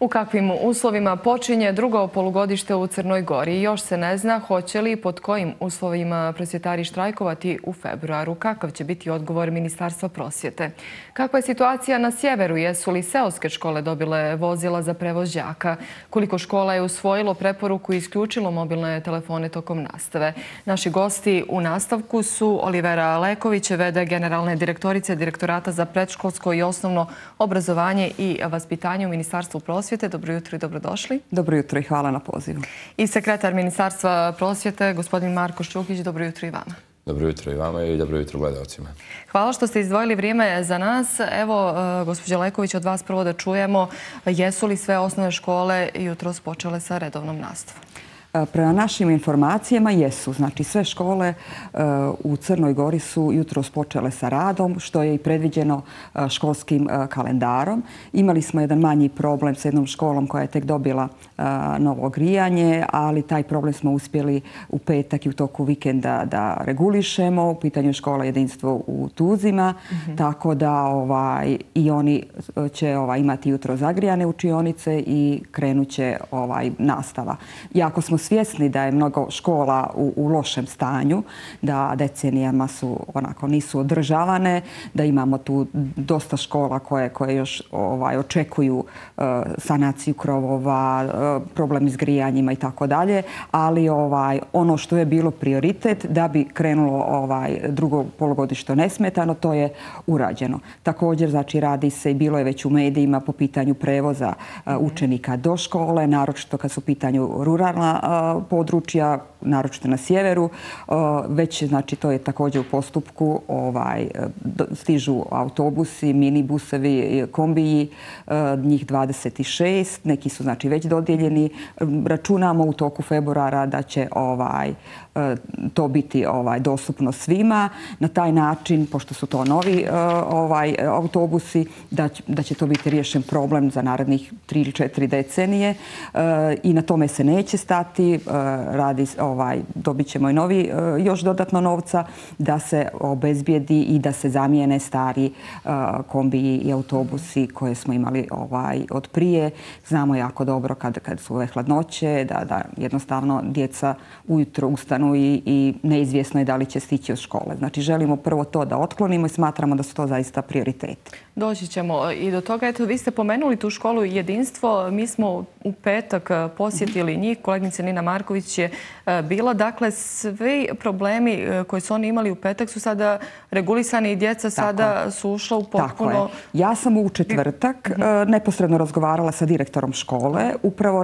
U kakvim uslovima počinje drugo polugodište u Crnoj Gori? Još se ne zna hoće li i pod kojim uslovima prosvjetari štrajkovati u februaru. Kakav će biti odgovor Ministarstva prosvjete? Kakva je situacija na sjeveru? Jesu li seoske škole dobile vozila za prevoz đaka? Koliko škola je usvojilo preporuku i isključilo mobilne telefone tokom nastave? Naši gosti u nastavku su Olivera Leković, v.d. generalne direktorice Direktorata za predškolsko i osnovno obrazovanje i vaspitanje u Ministarstvu prosvjete. Dobro jutro i dobrodošli. Dobro jutro i hvala na pozivu. I sekretar Ministarstva prosvjete, gospodin Marko Šćukić. Dobro jutro i vama. Dobro jutro i vama i dobro jutro gledalcima. Hvala što ste izdvojili vrijeme za nas. Evo, gospođa Leković, od vas prvo da čujemo jesu li sve osnovne škole jutros počele sa redovnom nastavom? Prema našim informacijama jesu. Znači sve škole u Crnoj Gori su jutros počele sa radom, što je i predviđeno školskim kalendarom. Imali smo jedan manji problem sa jednom školom koja je tek dobila novo grijanje, ali taj problem smo uspjeli u petak i u toku vikenda da regulišemo. U pitanju škola Jedinstvo u Tuzima, tako da i oni će imati jutro zagrijane učionice i krenut će nastava. Jako smo svjesni da je mnogo škola u lošem stanju, da decenijama nisu održavane, da imamo tu dosta škola koje još očekuju sanaciju krovova, problem s grijanjima i tako dalje, ali ono što je bilo prioritet da bi krenulo drugo polugodište nesmetano, to je urađeno. Također, znači, radi se i bilo je već u medijima po pitanju prevoza učenika do škole, naročito kad su u pitanju ruralna područja, naročito na sjeveru. Već, znači, to je također u postupku. Stižu autobusi, minibusevi, kombiji, njih 26. Neki su, znači, već dodijeljeni. Računamo u toku februara da će to biti dostupno svima. Na taj način, pošto su to novi autobusi, da će to biti riješen problem za narednih 3 ili 4 decenije. I na tome se neće stati. Dobit ćemo i novi još dodatno novca da se obezbijedi i da se zamijene stari kombiji i autobusi koje smo imali od prije. Znamo jako dobro kad su ove hladnoće, da jednostavno djeca ujutro ustanu i neizvjesno je da li će stići od škole. Znači, želimo prvo to da otklonimo i smatramo da su to zaista prioriteti. Doći ćemo i do toga. Eto, vi ste pomenuli tu školu Jedinstvo. Mi smo u petak posjetili njih. Kolegnica Nina Marković je bila. Dakle, svi problemi koji su oni imali u petak su sada regulisani i djeca sada su ušla u potpuno... Tako je. Ja sam u četvrtak neposredno razgovarala sa direktorom škole, upravo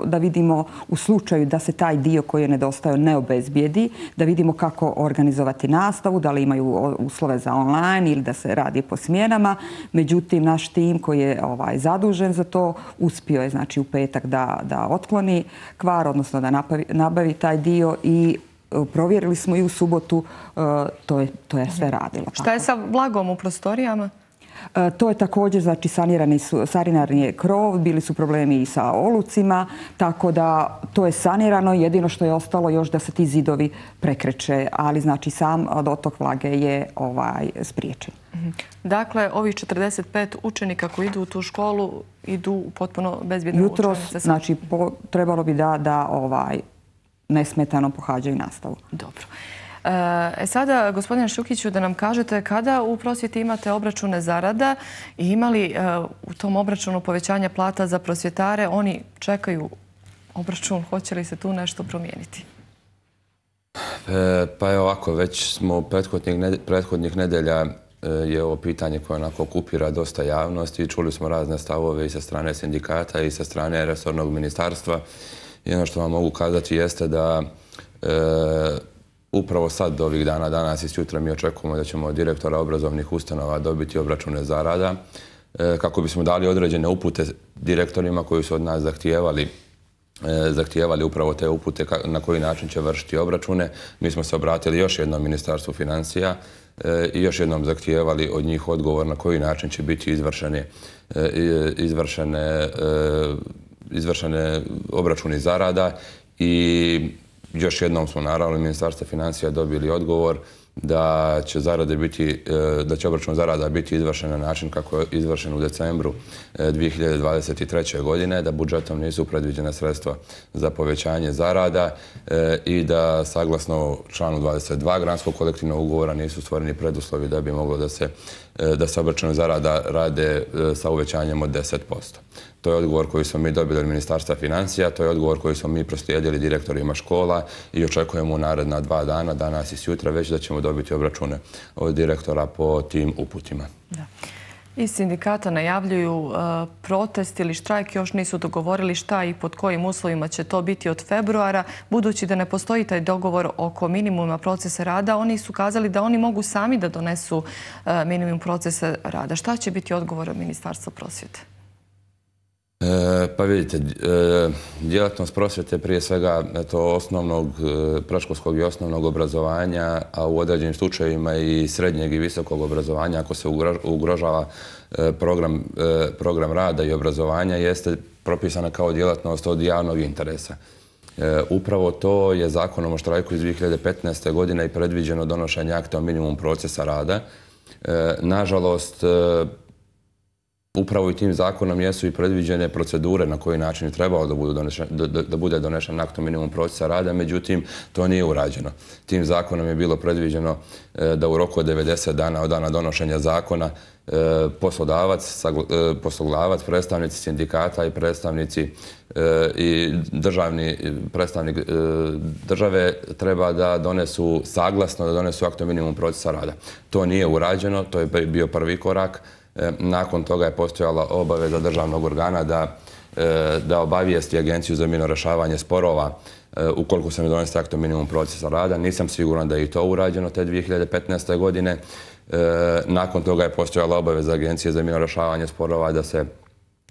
da vidimo u slučaju da se taj dio koji je nedostajao ne obezbijedi, da vidimo kako organizovati nastavu, da li imaju uslove za online ili da se radi po smjenama. Međutim, naš tim koji je zadužen za to uspio je, znači, u petak da otkloni kvar, odnosno da nabavi taj dio i provjerili smo i u subotu, to je sve radilo. Šta je sa vlagom u prostorijama? To je također, znači, saniran je krov, bili su problemi i sa olucima, tako da to je sanirano. Jedino što je ostalo još da se ti zidovi prekreće, ali, znači, sam dotok vlage je spriječen. Dakle, ovih 45 učenika koji idu u tu školu idu u potpuno bezbjedne učionice. Jutros, znači, trebalo bi da nesmetano pohađaju nastavu. Dobro. Sada, gospodine Šćukiću, da nam kažete kada u prosvjeti imate obračune zarada i imali u tom obračunu povećanja plata za prosvjetare, oni čekaju obračun, hoće li se tu nešto promijeniti? Pa je ovako, već smo prethodnih nedelja je ovo pitanje koje onako okupira dosta javnosti. Čuli smo razne stavove i sa strane sindikata i sa strane resornog ministarstva. I ono što vam mogu kazati jeste da upravo sad, ovih dana, danas i sutra mi očekujemo da ćemo od direktora obrazovnih ustanova dobiti obračune zarada kako bismo dali određene upute direktorima koji su od nas zahtijevali upravo te upute na koji način će vršiti obračune. Mi smo se obratili još jednom Ministarstvu financija i još jednom zahtijevali od njih odgovor na koji način će biti izvršene obračuni zarada i još jednom smo naravno Ministarstva financija dobili odgovor da će obračun zarada biti izvršen na način kako je izvršen u decembru 2023. godine, da budžetom nisu predviđena sredstva za povećanje zarada i da saglasno članu 22 granskog kolektivnog ugovora nisu stvoreni preduslovi da bi moglo da se obračun zarada rade sa uvećanjem od 10%. To je odgovor koji smo mi dobili od Ministarstva financija, to je odgovor koji smo mi proslijedili direktorima škola i očekujemo u naredna 2 dana, danas i sutra, već da ćemo dobiti obračune od direktora po tim uputima. Iz sindikata najavljuju protest ili štrajk, još nisu dogovorili šta i pod kojim uslovima će to biti od februara. Budući da ne postoji taj dogovor oko minimuma procesa rada, oni su kazali da oni mogu sami da donesu minimum procesa rada. Šta će biti odgovor od Ministarstva prosvjete? Pa vidite, djelatnost prosvjete prije svega osnovnog, predškolskog i osnovnog obrazovanja, a u određenim slučajevima i srednjeg i visokog obrazovanja, ako se ugrožava program rada i obrazovanja, jeste propisana kao djelatnost od javnog interesa. Upravo to je Zakonom o štrajku iz 2015. godine i predviđeno donošenje akta o minimum procesa rada. Nažalost, upravo i tim zakonom jesu i predviđene procedure na koji način je trebalo da bude donešen akt o minimum procesa rada, međutim, to nije urađeno. Tim zakonom je bilo predviđeno da u roku od 90 dana od dana donošenja zakona poslodavac, predstavnici sindikata i predstavnici i predstavnik države treba da donesu saglasno, da donesu akt o minimum procesa rada. To nije urađeno, to je bio prvi korak. Nakon toga je postojala obaveza državnog organa da obavijesti Agenciju za mirno rješavanje sporova ukoliko se ne donese akt o minimum procesa rada. Nisam siguran da je i to urađeno te 2015. godine. Nakon toga je postojala obaveza Agencije za mirno rješavanje sporova da se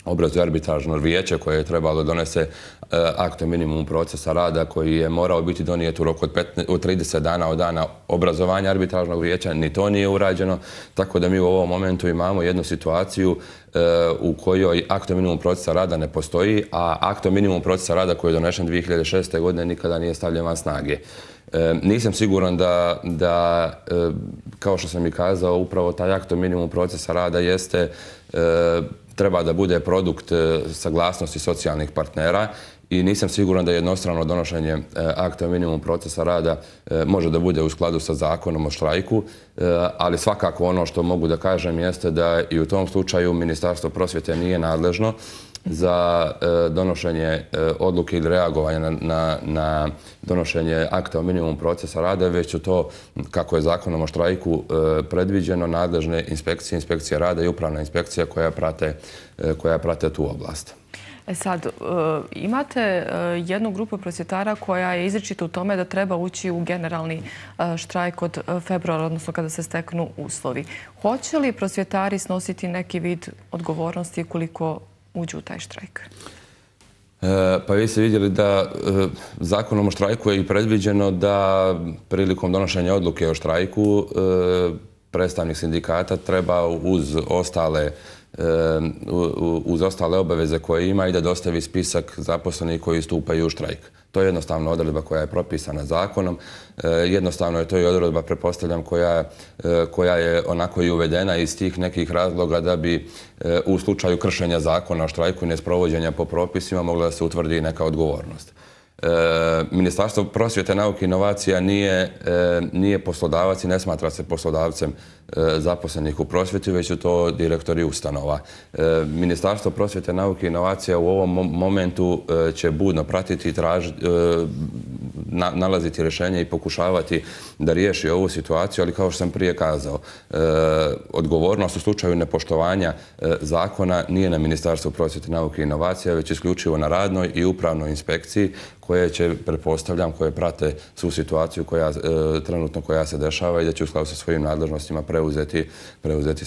obrazuje arbitražno vijeće koje je trebalo donese akt o minimumu procesa rada koji je morao biti donijet u roku od 30 dana od dana obrazovanja arbitražnog vijeća. Ni to nije urađeno, tako da mi u ovom momentu imamo jednu situaciju u kojoj akt o minimumu procesa rada ne postoji, a akt o minimumu procesa rada koji je donešen 2006. godine nikada nije stavljen van snage. Nisam siguran da, kao što sam i kazao, upravo taj akt o minimumu procesa rada treba da bude produkt saglasnosti socijalnih partnera i nisam siguran da jednostrano donošenje akta o minimumu procesa rada može da bude u skladu sa zakonom o štrajku, ali svakako ono što mogu da kažem jeste da i u tom slučaju Ministarstvo prosvjete nije nadležno za donošenje odluke ili reagovanja na donošenje akta o minimumu procesa rada, već su to, kako je zakonom o štrajku predviđeno, nadležne inspekcije, inspekcija rada i upravna inspekcija koja prate tu oblast. Sad, imate jednu grupu prosvjetara koja je izričita u tome da treba ući u generalni štrajk od februara, odnosno kada se steknu uslovi. Hoće li prosvjetari snositi neki vid odgovornosti koliko uđu u taj štrajk? Pa vi ste vidjeli da zakonom o štrajku je i predviđeno da prilikom donošenja odluke o štrajku predstavnik sindikata treba uz ostale obaveze koje ima i da dostavi spisak zaposlenih koji stupaju u štrajk. To je jednostavno odredba koja je propisana zakonom. Jednostavno je to i odredba, pretpostavljam, koja je onako i uvedena iz tih nekih razloga da bi u slučaju kršenja zakona o štrajku i nesprovođenja po propisima mogla da se utvrdi neka odgovornost. Ministarstvo prosvjete, nauke i inovacija nije poslodavac i ne smatra se poslodavcem zaposlenih u prosvjeti, već su to direktori ustanova. Ministarstvo prosvjete, nauke i inovacija u ovom momentu će budno pratiti i nalaziti rješenje i pokušavati da riješi ovu situaciju, ali kao što sam prije kazao, odgovornost u slučaju nepoštovanja zakona nije na Ministarstvu prosvjete, nauke i inovacija, već isključivo na radnoj i upravnoj inspekciji koje će, pretpostavljam, koje prate svu situaciju trenutno koja se dešava i da će u skladu sa svojim nadležnostima preuzeti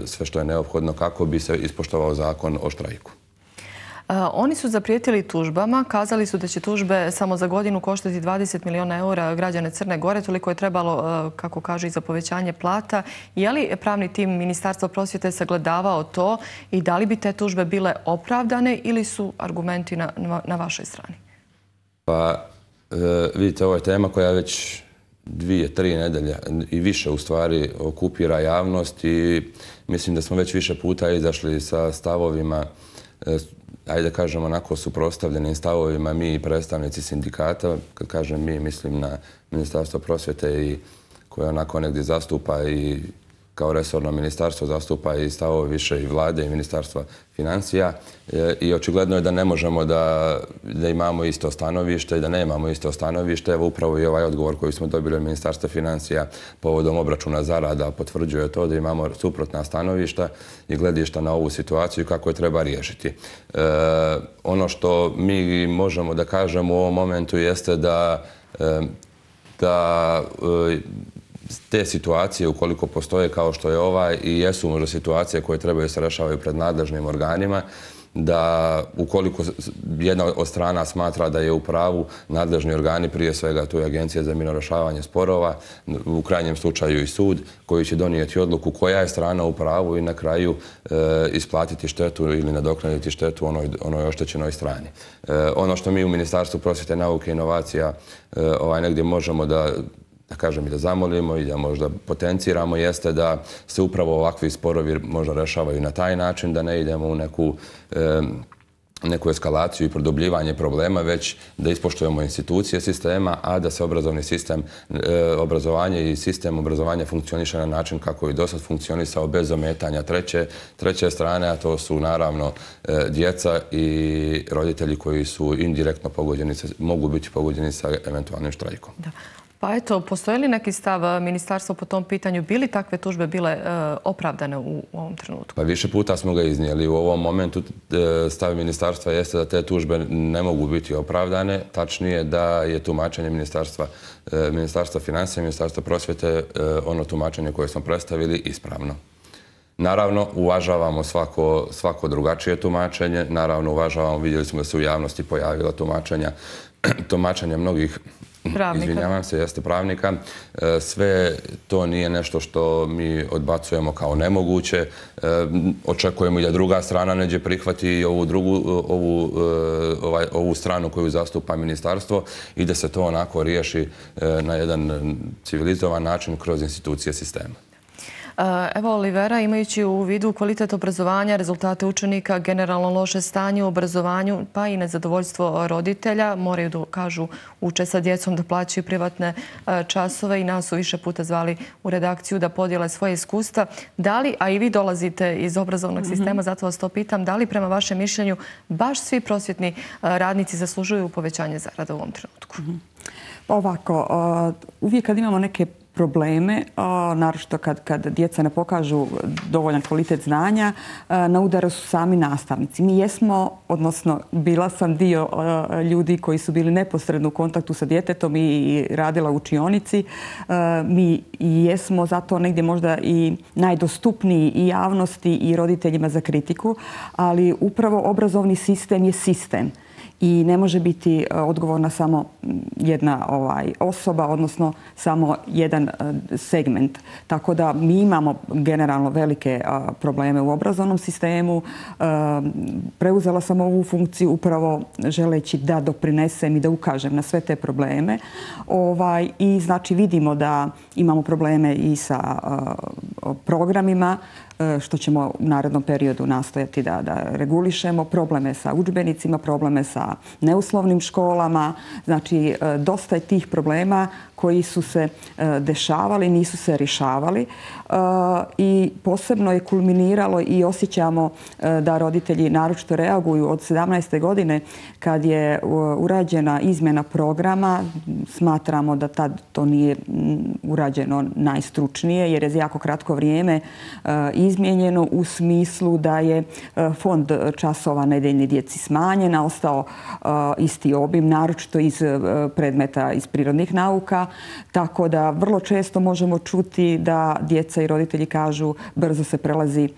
sve što je neophodno kako bi se ispoštovao zakon o štrajku. Oni su zaprijetili tužbama, kazali su da će tužbe samo za godinu koštati 20 miliona eura građane Crne Gore, toliko je trebalo, kako kažu, i za povećanje plata. Je li pravni tim Ministarstva prosvjete sagledavao to i da li bi te tužbe bile opravdane ili su argumenti na vašoj strani? Pa, vidite, ovo je tema koja već 2, 3 nedelje i više u stvari okupira javnost i mislim da smo već više puta izašli sa stavovima, ajde kažemo onako suprotstavljenim stavovima mi i predstavnici sindikata. Kad kažem mi, mislim na Ministarstvo prosvjete i koje onako negdje zastupa i kao resorno ministarstvo zastupa i stavove više i vlade i ministarstva financija i očigledno je da ne možemo da imamo isto stanovište i da nemamo isto stanovište. Evo upravo i ovaj odgovor koji smo dobili od Ministarstva financija povodom obračuna zarada potvrđuje to da imamo suprotna stanovišta i gledišta na ovu situaciju i kako je treba riješiti. Ono što mi možemo da kažemo u ovom momentu jeste da te situacije, ukoliko postoje kao što je ovaj i jesu možda situacije koje trebaju se rešavaju pred nadležnim organima, da ukoliko jedna od strana smatra da je u pravu, nadležni organi, prije svega tu je Agencija za mirno rješavanje sporova, u krajnjem slučaju i sud, koji će donijeti odluku koja je strana u pravu i na kraju isplatiti štetu ili nadoknaditi štetu onoj oštećenoj strani. Ono što mi u Ministarstvu prosvjete, nauke i inovacija negdje možemo da kažem i da zamolimo i da možda potenciramo jeste da se upravo ovakvi sporovi možda rešavaju na taj način, da ne idemo u neku eskalaciju i produbljivanje problema, već da ispoštujemo institucije sistema, a da se obrazovni sistem, obrazovanje i sistem obrazovanja funkcioniše na način kako je dosad funkcionisao bez ometanja treće strane, a to su naravno djeca i roditelji koji su indirektno pogođeni, mogu biti pogođeni sa eventualnim štrajkom. Pa eto, postoji li neki stav ministarstva po tom pitanju? Bi li takve tužbe bile opravdane u ovom trenutku? Pa više puta smo ga iznijeli. U ovom momentu stav ministarstva jeste da te tužbe ne mogu biti opravdane. Tačnije da je tumačenje Ministarstva financija i Ministarstva prosvjete ono tumačenje koje smo predstavili ispravno. Naravno, uvažavamo svako drugačije tumačenje. Naravno, uvažavamo, vidjeli smo da se u javnosti pojavila tumačenja mnogih izvinjavam se, jeste pravnika. Sve to nije nešto što mi odbacujemo kao nemoguće. Očekujemo i da druga strana neđe prihvati i ovu stranu koju zastupa ministarstvo i da se to onako riješi na jedan civilizovan način kroz institucije sistema. Evo, Olivera, imajući u vidu kvalitet obrazovanja, rezultate učenika, generalno loše stanje u obrazovanju, pa i nezadovoljstvo roditelja, moraju da kažu uče sa djecom da plaćaju privatne časove i nas su više puta zvali u redakciju da podijele svoje iskustva. Da li, a i vi dolazite iz obrazovnog sistema, zato vas to pitam, da li prema vašem mišljenju baš svi prosvjetni radnici zaslužuju povećanje zarada u ovom trenutku? Ovako, uvijek kad imamo neke probleme, naročito kad djeca ne pokažu dovoljan kvalitet znanja, na udaru su sami nastavnici. Mi jesmo, odnosno bila sam dio ljudi koji su bili neposredno u kontaktu sa djetetom i radila u učionici. Mi jesmo zato negdje možda i najdostupniji i javnosti i roditeljima za kritiku, ali upravo obrazovni sistem je sistem. I ne može biti odgovorna samo jedna osoba, odnosno samo jedan segment. Tako da mi imamo generalno velike probleme u obrazovnom sistemu. Preuzela sam ovu funkciju upravo želeći da doprinesem i da ukažem na sve te probleme. I znači vidimo da imamo probleme i sa programima, što ćemo u narednom periodu nastojati da regulišemo, probleme sa udžbenicima, probleme sa neuslovnim školama. Znači, dosta je tih problema koji su se dešavali, nisu se rješavali i posebno je kulminiralo i osjećamo da roditelji naročito reaguju od 17. godine kad je urađena izmjena programa. Smatramo da tad to nije urađeno najstručnije jer je za jako kratko vrijeme izmijenjeno u smislu da je fond časova nedeljne djeci smanjen, a ostao isti obim, naročito iz predmeta iz prirodnih nauka. Tako da vrlo često možemo čuti da djeca i roditelji kažu brzo se prelazi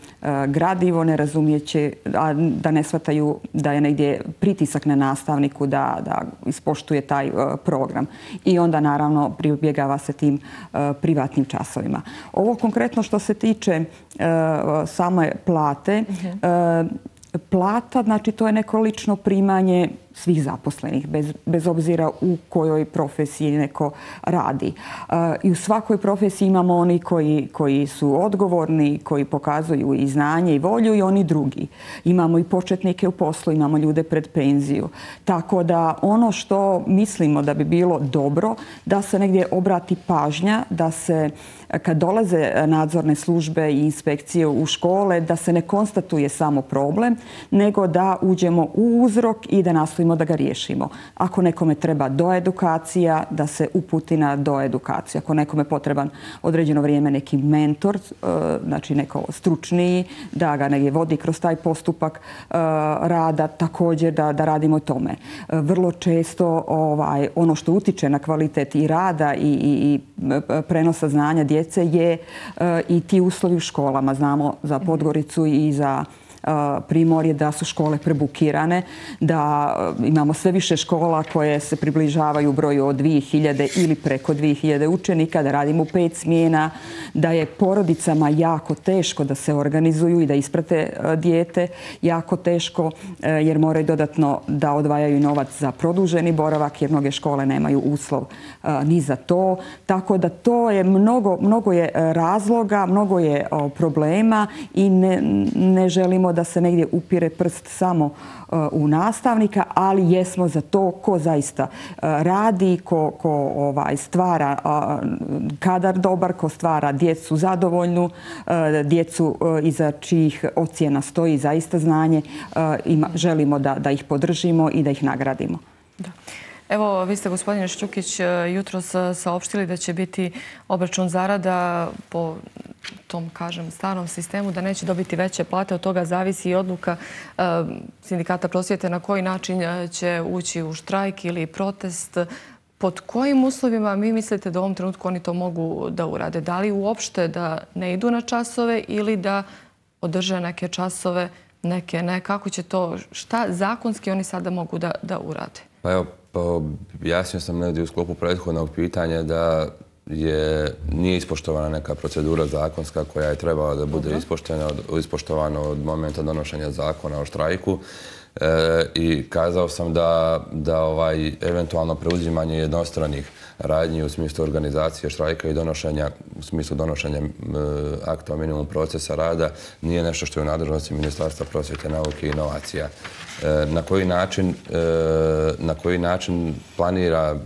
gradivo, ne razumijeće, a da ne shvataju da je negdje pritisak na nastavniku da ispoštuje taj program. I onda naravno pribjegava se tim privatnim časovima. Ovo konkretno što se tiče same plate, Plata, znači to je neko lično primanje svih zaposlenih, bez obzira u kojoj profesiji neko radi. I u svakoj profesiji imamo oni koji su odgovorni, koji pokazuju i znanje i volju i oni drugi. Imamo i početnike u poslu, imamo ljude pred penziju. Tako da ono što mislimo da bi bilo dobro, da se negdje obrati pažnja, da se kad dolaze nadzorne službe i inspekcije u škole, da se ne konstatuje samo problem, nego da uđemo u uzrok i da nastojimo da ga riješimo. Ako nekome treba doedukacija, da se uputi na doedukaciju. Ako nekome potreban određeno vrijeme neki mentor, znači neko stručniji, da ga negdje vodi kroz taj postupak rada, također da radimo tome. Vrlo često ono što utiče na kvalitet i rada i prenosa znanja djece je i ti uslovi u školama. Znamo za Podgoricu i za Primorje da su škole prebukirane, da imamo sve više škola koje se približavaju broju od 2000 ili preko 2000 učenika, da radimo u 5 smjena, da je porodicama jako teško da se organizuju i da isprate dijete, jako teško jer moraju dodatno da odvajaju novac za produženi boravak jer mnoge škole nemaju uslov ni za to. Tako da to je mnogo je razloga, mnogo je problema i ne želimo da se negdje upire prst samo u nastavnika, ali jesmo za to ko zaista radi, ko stvara kadar dobar, ko stvara djecu zadovoljnu, djecu iza čijih ocjena stoji zaista znanje. Želimo da ih podržimo i da ih nagradimo. Da. Evo, vi ste, gospodine Šćukić, jutros saopštili da će biti obračun zarada po tom, kažem, starom sistemu, da neće dobiti veće plate. Od toga zavisi i odluka Sindikata prosvjete na koji način će ući u štrajk ili protest. Pod kojim uslovima vi mislite da u ovom trenutku oni to mogu da urade? Da li uopšte da ne idu na časove ili da održe neke časove, neke ne? Kako će to, šta zakonski oni sada mogu da urade? Pa evo, jasnio sam negdje u sklopu prethodnog pitanja da nije ispoštovana neka procedura zakonska koja je trebala da bude ispoštovana od momenta donošenja zakona o štrajku. I kazao sam da eventualno preuzimanje jednostranih radnji u smislu organizacije štrajka i u smislu donošenja akta o minimum procesa rada nije nešto što je u nadležnosti Ministarstva prosvjete, nauke i inovacija. Na koji način planira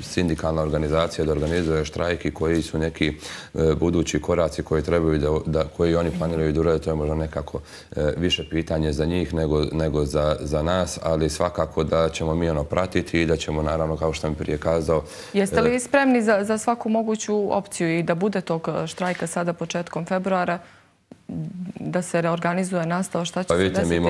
sindikalna organizacija da organizuje štrajk i koji su neki budući koraci koji oni planiraju da urade, to je možda nekako više pitanje za njih nego za nas, ali svakako da ćemo mi pratiti i da ćemo, naravno, kao što sam prije kazao... Jeste li vi spremni za svaku moguću opciju i da bude tog štrajka sada početkom februara, da se reorganizuje nastava? Šta će se desiti?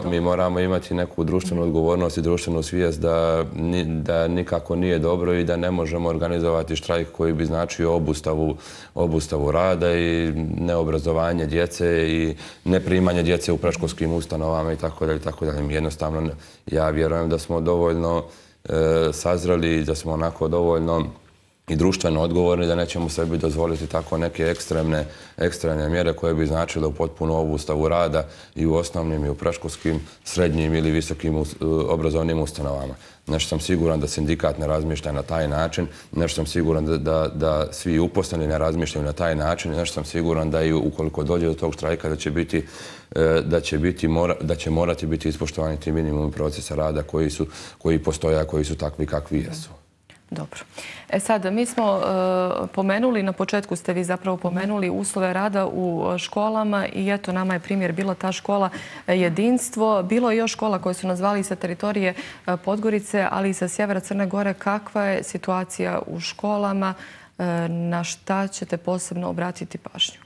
Mi moramo imati neku društvenu odgovornost i društvenu svijest da nikako nije dobro i da ne možemo organizovati štrajk koji bi značio obustavu rada i neobrazovanje djece i neprimanje djece u predškolskim ustanovama itd. Jednostavno, ja vjerujem da smo dovoljno sazreli, da smo onako dovoljno i društveno odgovorni, da nećemo sebi dozvoliti tako neke ekstremne mjere koje bi značile u potpuno obustavu rada i u osnovnim i u predškolskim, srednjim ili visokim obrazovnim ustanovama. Nešto sam siguran da sindikat ne razmišlja na taj način, nešto sam siguran da svi uposleni ne razmišljaju na taj način, nešto sam siguran da i ukoliko dođe do tog štrajka da će morati biti ispoštovani ti minimumi procesa rada koji postoje, a koji su takvi kakvi jesu. Dobro. Sad, mi smo pomenuli, na početku ste vi zapravo pomenuli uslove rada u školama i eto, nama je primjer bila ta škola Jedinstvo. Bilo je još škola koje su nazvali sa teritorije Podgorice, ali i sa sjevera Crne Gore. Kakva je situacija u školama? Na šta ćete posebno obratiti pažnju?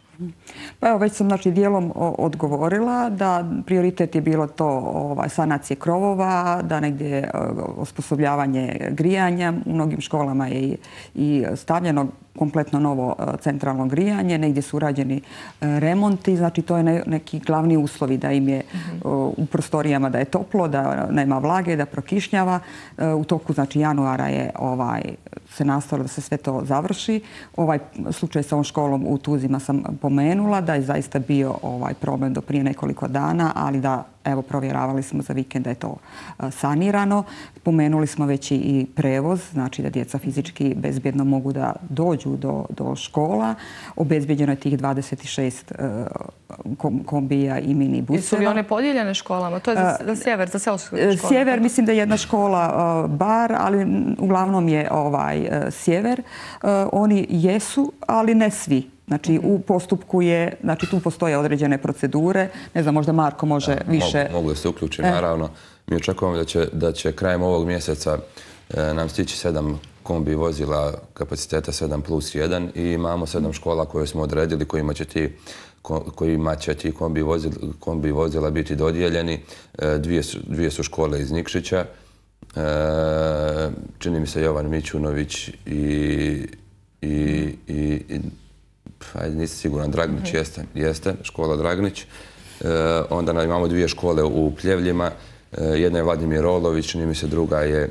Pa evo, već sam dijelom odgovorila da prioritet je bilo to sanacije krovova, da negdje osposobljavanje grijanja. U mnogim školama je i stavljeno kompletno novo centralno grijanje, negdje su urađeni remonti, znači to je neki glavni uslovi da im je u prostorijama da je toplo, da nema vlage, da prokišnjava. U toku januara je se nastavilo da se sve to završi. Ovaj slučaj sa ovom školom u Tuzima sam pomenula da je zaista bio problem do prije nekoliko dana, ali da evo, provjeravali smo za vikend da je to sanirano. Pomenuli smo već i prevoz, znači da djeca fizički bezbjedno mogu da dođu do škola. Obezbjeđeno je tih 26 kombija i minibuseva. Su li one podijeljene školama? To je za sjever, za selsku školu? Sjever, mislim da je jedna škola bar, ali uglavnom je sjever. Oni jesu, ali ne svi. Znači, u postupku je, znači tu postoje određene procedure. Ne znam, možda Marko može više... Mogu da se uključiti, naravno. Mi očekujemo da će krajem ovog mjeseca nam stići 7 kombi vozila kapaciteta 7+1 i imamo 7 škola koje smo odredili kojima će ti kombi vozila biti dodijeljeni. Dvije su škole iz Nikšića. Čini mi se Jovan Mićunović ajde, nisam siguran, Dragnić jeste, škola Dragnić. Onda imamo 2 škole u Pljevljima. Jedna je Vladimir Rolović, čini mi se druga je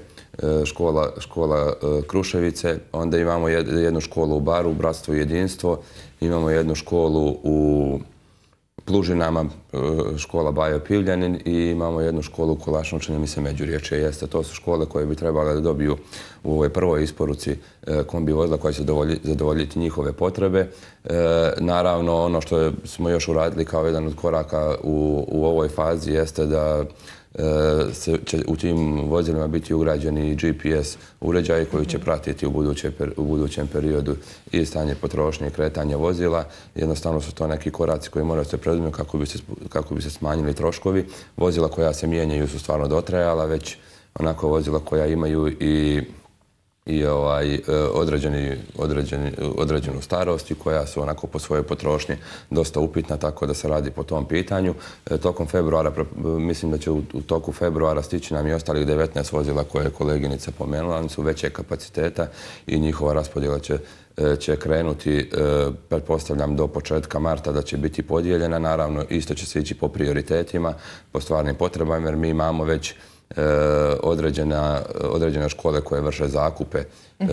škola Kruševice. Onda imamo jednu školu u Baru, Bratstvo i jedinstvo. Imamo jednu školu u Plužinama, škola Bajo Pivljanin i imamo jednu školu u Kolašnom, čini mi se Međurječje jeste. To su škole koje bi trebale da dobiju u ovoj prvoj isporuci kombi vozila koja će zadovoljiti njihove potrebe. Naravno, ono što smo još uradili kao jedan od koraka u ovoj fazi jeste da će u tim vozilima biti ugrađeni i GPS uređaji koji će pratiti u budućem periodu i stanje potrošnje i kretanje vozila. Jednostavno su to neki koraci koji moraju se preduzeti kako bi se smanjili troškovi. Vozila koja se mijenjaju su stvarno dotrajala, već onako vozila koja imaju i određenu starost i koja su onako po svojoj potrošnji dosta upitna, tako da se radi po tom pitanju. Tokom februara, mislim da će u toku februara stići nam i ostalih 19 vozila koje je koleginica pomenula. Oni su veće kapaciteta i njihova raspodjela će krenuti, pretpostavljam, do početka marta da će biti podijeljena. Naravno, isto će se ići po prioritetima, po stvarnim potrebama, jer mi imamo već određene škole koje vrše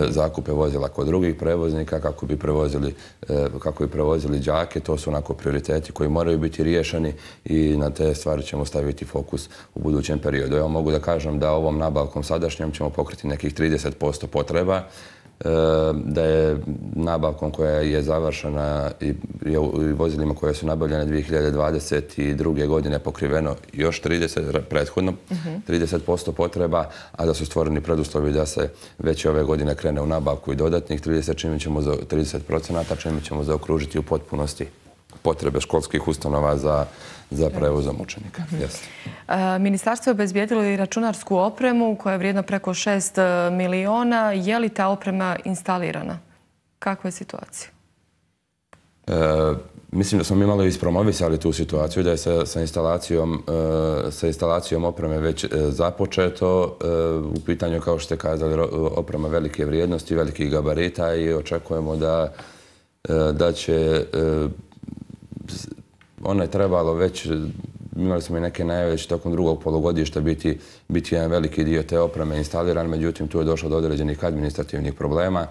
zakupe vozila kod drugih prevoznika kako bi prevozili đake. To su onako prioriteti koji moraju biti riješeni i na te stvari ćemo staviti fokus u budućem periodu. Evo mogu da kažem da ovom nabavkom sadašnjom ćemo pokriti nekih 30% potreba, da je nabavkom koja je završena i vozilima koje su nabavljene 2022. godine pokriveno još prethodno 30% potreba, a da su stvoreni preduslovi da se već ove godine krene u nabavku i dodatnih 30%, čime ćemo zaokružiti u potpunosti potrebe školskih ustanova za prevozom učenika. Ministarstvo je obezbijedilo i računarsku opremu koja je vrijedna preko 6 miliona. Je li ta oprema instalirana? Kakva je situacija? Mislim da smo mi malo ispromovisali tu situaciju, da je sa instalacijom opreme već započeto. U pitanju, kao što ste kazali, oprema velike vrijednosti, velikih gabarita i očekujemo da će... Ono je trebalo već, imali smo i neke najave već tokom drugog polugodišta biti jedan veliki dio te opreme instaliran, međutim tu je došlo do određenih administrativnih problema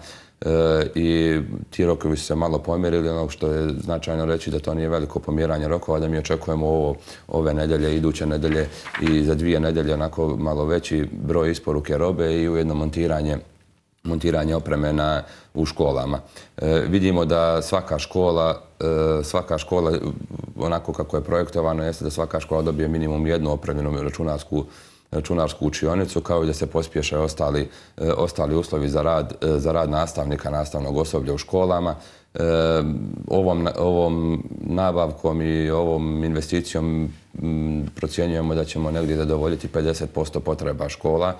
i ti rokovi su se malo pomjerili. Ono što je značajno reći da to nije veliko pomjeranje rokova, da mi očekujemo ove nedelje, iduće nedelje i za 2 nedelje onako malo veći broj isporuke robe i ujedno montiranje opreme u školama. Vidimo da svaka škola, onako kako je projektovano, jeste da svaka škola dobije minimum jednu opremljenu računarsku učionicu, kao i da se pospješe ostali uslovi za rad nastavnika, nastavnog osoblja u školama. Ovom nabavkom i ovom investicijom procjenjujemo da ćemo negdje zadovoljiti 50% potreba škola,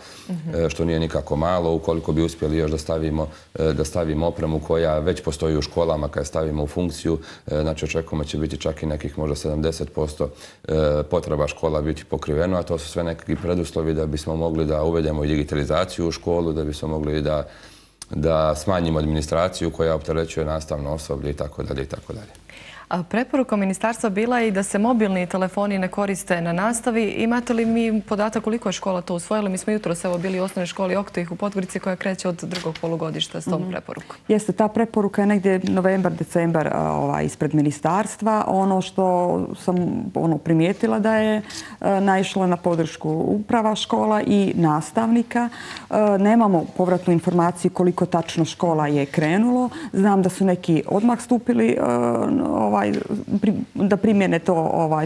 što nije nikako malo. Ukoliko bi uspjeli još da stavimo opremu koja već postoji u školama, kada stavimo u funkciju, znači očekujemo će biti čak i nekih možda 70% potreba škola biti pokriveno, a to su sve neki preduslovi da bismo mogli da uvedemo i digitalizaciju u školu, da bismo mogli da smanjimo administraciju koja opterećuje nastavno osoblje itd. Preporuka ministarstva bila je i da se mobilni telefoni ne koriste na nastavi. Imate li mi podatak koliko je škola to usvojila? Mi smo jutros bili u osnovnoj školi Oktih u Podgorici koja kreće od drugog polugodišta s tom preporukom. Jeste, ta preporuka je negdje novembar, decembar ispred ministarstva. Ono što sam primijetila da je naišla na podršku uprava škola i nastavnika. Nemamo povratnu informaciju koliko tačno škola je krenulo. Znam da su neki odmah stupili da primjene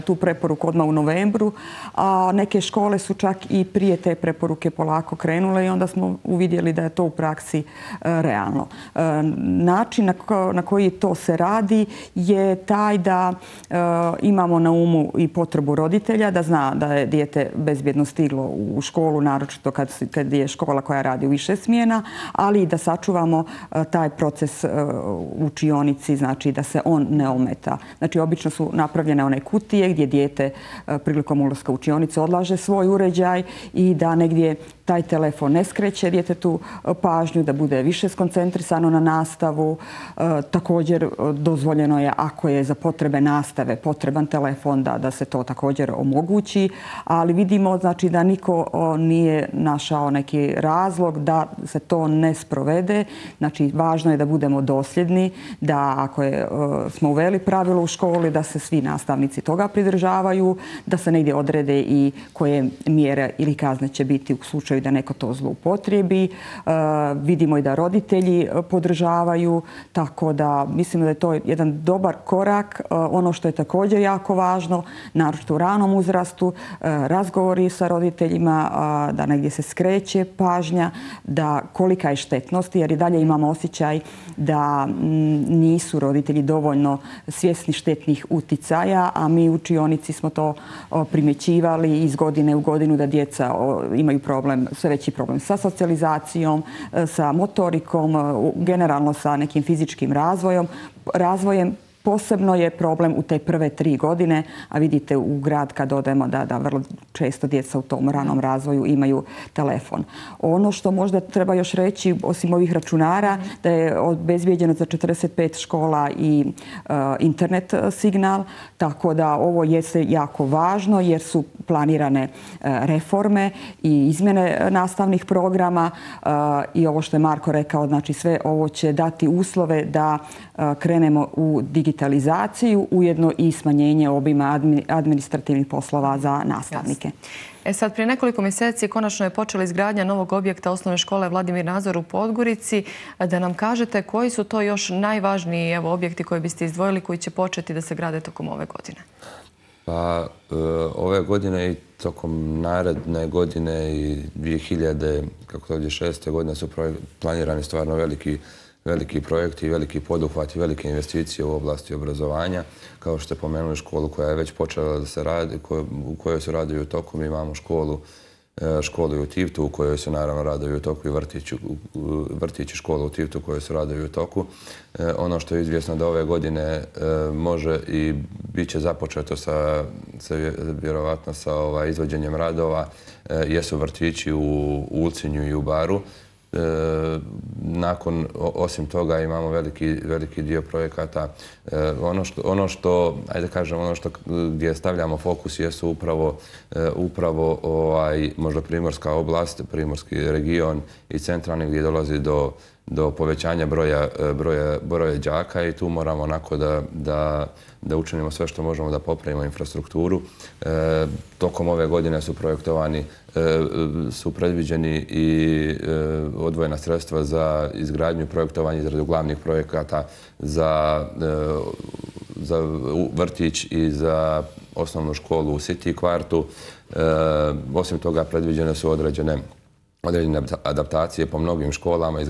tu preporuku odmah u novembru, a neke škole su čak i prije te preporuke polako krenule i onda smo uvidjeli da je to u praksi realno. Način na koji to se radi je taj da imamo na umu i potrebu roditelja, da zna da je dijete bezbjedno stiglo u školu, naročito kad je škola koja radi u više smjena, ali i da sačuvamo taj proces u učionici, znači da se on ne ometa. Znači, obično su napravljene one kutije gdje dijete prilikom ulaska u učionicu odlaže svoj uređaj i da negdje taj telefon ne skreće djetetu pažnju, da bude više skoncentrisano na nastavu. Također dozvoljeno je, ako je za potrebe nastave potreban telefon, da se to također omogući, ali vidimo znači da niko nije našao neki razlog da se to ne sprovede. Znači, važno je da budemo dosljedni, da ako smo uveli pravilo u školi, da se svi nastavnici toga pridržavaju, da se negdje odrede i koje mjere ili kazne će biti u slučaju da neko to zloupotrijebi. Vidimo i da roditelji podržavaju, tako da mislimo da je to jedan dobar korak. Ono što je također jako važno, naročito u ranom uzrastu, razgovori sa roditeljima, da negdje se skreće pažnja, da kolika je štetnost, jer i dalje imamo osjećaj da nisu roditelji dovoljno svjesni štetnih uticaja, a mi u učionici smo to primjećivali iz godine u godinu da djeca imaju sve veći problem sa socijalizacijom, sa motorikom, generalno sa nekim fizičkim razvojem. Posebno je problem u te prve 3 godine, a vidite u grad kad odemo da vrlo često djeca u tom ranom razvoju imaju telefon. Ono što možda treba još reći, osim ovih računara, da je obezbijeđeno za 45 škola i internet signal, tako da ovo jeste jako važno jer su planirane reforme i izmjene nastavnih programa i ovo što je Marko rekao, znači sve ovo će dati uslove da krenemo u digitalizaciju, ujedno i smanjenje obima administrativnih poslova za nastavnike. Sad, prije nekoliko mjeseci konačno je počela izgradnja novog objekta osnovne škole Vladimir Nazor u Podgorici. Da nam kažete koji su to još najvažniji objekti koje biste izdvojili koji će početi da se grade tokom ove godine? Pa ove godine i tokom naredne godine i 2006. godine su planirani stvarno veliki projekti, veliki poduhvati, velike investicije u oblasti obrazovanja. Kao što ste pomenuli školu koja je već počela da se radi, u kojoj se radovi u toku. Mi imamo školu u Tivtu u kojoj se naravno radovi u toku i vrtići školu u Tivtu u kojoj se radovi u toku. Ono što je izvjesno da ove godine može i bit će započeto vjerovatno sa izvođenjem radova jesu vrtići u Ulcinju i u Baru. Osim toga imamo veliki dio projekata. Ono što gdje stavljamo fokus jesu upravo možda primorska oblast, primorski region i centralni gdje dolazi do povećanja broja đaka i tu moramo onako da učinimo sve što možemo da popravimo infrastrukturu. Tokom ove godine su predviđeni i odvojena sredstva za izgradnju i projektovanje izradu glavnih projekata za vrtić i za osnovnu školu u City kvartu. Osim toga predviđene su određene adaptacije po mnogim školama,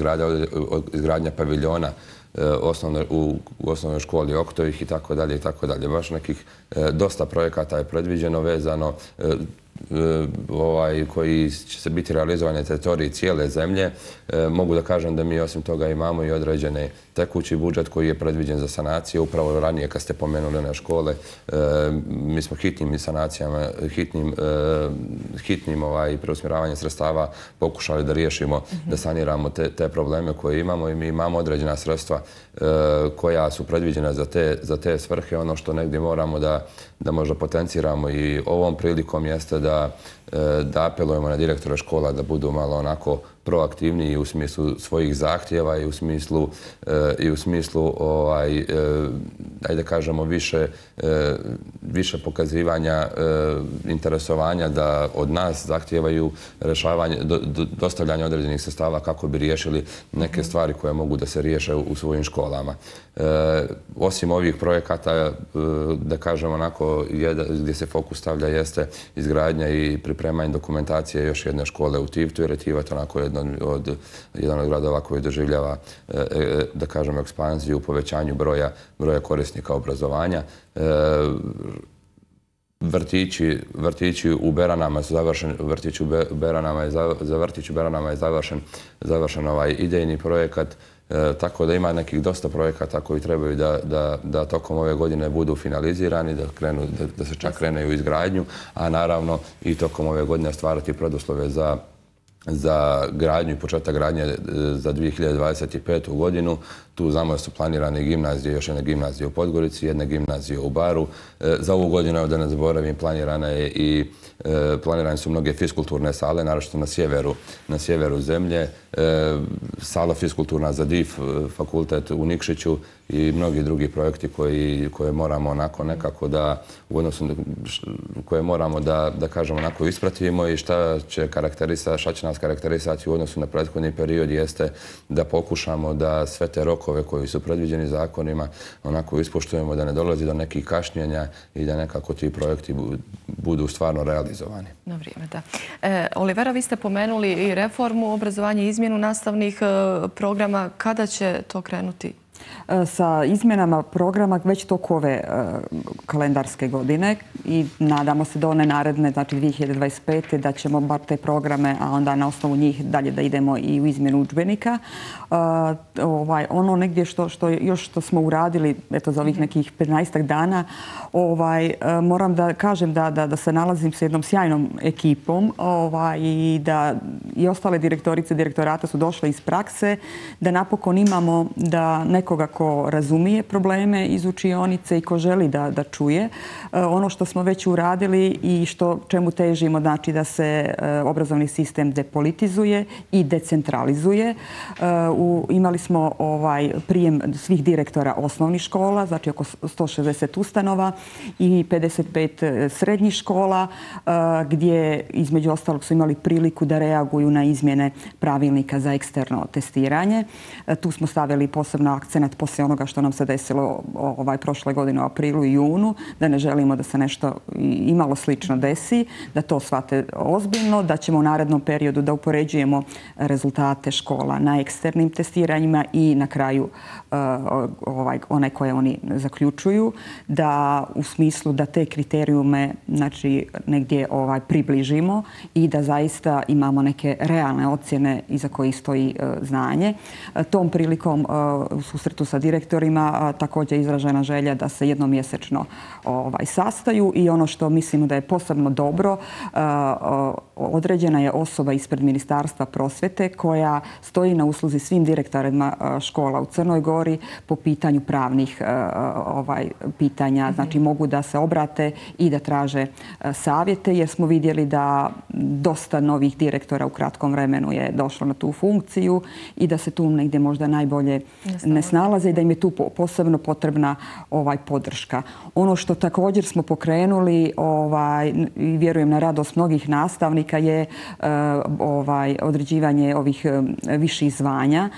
izgradnja paviljona u osnovnoj školi Oktovih i tako dalje. Baš nekih dosta projekata je predviđeno vezano. koji će se biti realizovani na teritoriji cijele zemlje. Mogu da kažem da mi osim toga imamo i određeni tekući budžet koji je predviđen za sanacije. Upravo ranije kad ste pomenuli one škole, mi smo hitnim sanacijama, hitnim preusmjeravanjem sredstava pokušali da riješimo, da saniramo te probleme koje imamo i mi imamo određena sredstva koja su predviđena za te svrhe. Ono što negdje moramo da možda potenciramo i ovom prilikom jeste da apelujemo na direktore škola da budu malo onako proaktivniji u smislu svojih zahtjeva i u smislu ajde kažemo više pokazivanja interesovanja da od nas zahtijevaju rješavanje, dostavljanje određenih sredstava kako bi riješili neke stvari koje mogu da se riješe u svojim školama. Osim ovih projekata, da kažem onako, gdje se fokus stavlja jeste izgradnja i pripremanje dokumentacije još jedne škole u Tivtu, jer je Tivat onako jedan od gradova koji doživljava, da kažem, ekspanziju u povećanju broja korisnika obrazovanja. Vrtići u Beranama su završeni, za vrtić u Beranama je završen ovaj idejni projekat, tako da ima nekih dosta projekata koji trebaju da tokom ove godine budu finalizirani, da se čak krene u izgradnju, a naravno i tokom ove godine stvarati preduslove za gradnju i početak gradnje za 2025. godinu. Tu znamo da su planirane gimnazije, još jedne gimnazije u Podgorici, jedne gimnazije u Baru. Za ovu godinu, da ne zaboravim, planirane su mnoge fiskulturne sale, naročito na sjeveru zemlje. Sala fiskulturna za DIF fakultet u Nikšiću i mnogi drugi projekti koje moramo onako nekako koje moramo da kažemo onako ispratimo i šta će nas karakterisati u odnosu na prethodni period jeste da pokušamo da sve te rokove koji su predviđeni zakonima onako ispoštujemo, da ne dolazi do nekih kašnjenja i da nekako ti projekti budu stvarno realizovani. Na vrijeme, da. Olivera, vi ste pomenuli i reformu obrazovanja i izmjenu nastavnih programa. Kada će to krenuti? Sa izmjenama programa već toko ove kalendarske godine i nadamo se do one naredne, znači 2025. da ćemo bar te programe, a onda na osnovu njih dalje da idemo i u izmjenu udžbenika. Ono negdje što smo uradili za ovih nekih 15 dana, moram da kažem da se nalazim s jednom sjajnom ekipom i da i ostale direktorice i direktorata su došle iz prakse, da napokon imamo da nekoga ko razumije probleme iz učionice i ko želi da čuje. Ono što smo već uradili i čemu težimo, znači da se obrazovni sistem depolitizuje i decentralizuje. Imali smo prijem svih direktora osnovnih škola, znači oko 160 ustanova i 55 srednjih škola, gdje između ostalog su imali priliku da reaguju na izmjene pravilnika za eksterno testiranje. Tu smo stavili posebno akcenat poslije onoga što nam se desilo prošle godine u aprilu i junu, da ne želimo da se nešto imalo slično desi, da to shvate ozbiljno, da ćemo u narednom periodu da upoređujemo rezultate škola na eksternim testiranjima i na kraju one koje oni zaključuju, da u smislu da te kriterijume negdje približimo i da zaista imamo neke realne ocjene iza kojih stoji znanje. Tom prilikom u susretu sa direktorima također je izražena želja da se jednomjesečno sastaju i ono što mislimo da je posebno dobro, određena je osoba ispred Ministarstva prosvjete koja stoji na usluzi svim direktorima škola u Crnoj Gori po pitanju pravnih pitanja. Znači mogu da se obrate i da traže savjete jer smo vidjeli da dosta novih direktora u kratkom vremenu je došlo na tu funkciju i da se tu negdje možda najbolje ne snalaze i da im je tu posebno potrebna podrška. Ono što također smo pokrenuli i vjerujem na radost mnogih nastavnika je određivanje ovih viših zvanja.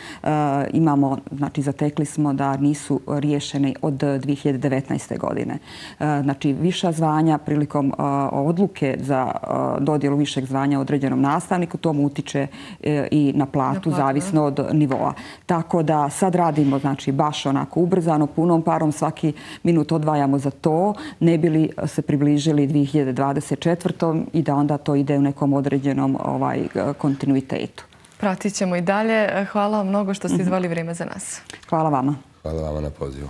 Imamo, znači zatekli smo da nisu riješene od 2019. godine. Znači viša zvanja prilikom odluke za dodjelu višeg zvanja određenom nastavniku, tomu utiče i na platu zavisno od nivoa. Tako da sad radimo znači baš onako ubrzano, punom parom, svaki minut odvajamo za to, ne bi li se približili 2024. i da onda to ide u nekom određenom kontinuitetu. Pratit ćemo i dalje. Hvala vam mnogo što ste izdvojili vrijeme za nas. Hvala vama. Hvala vama na pozivu.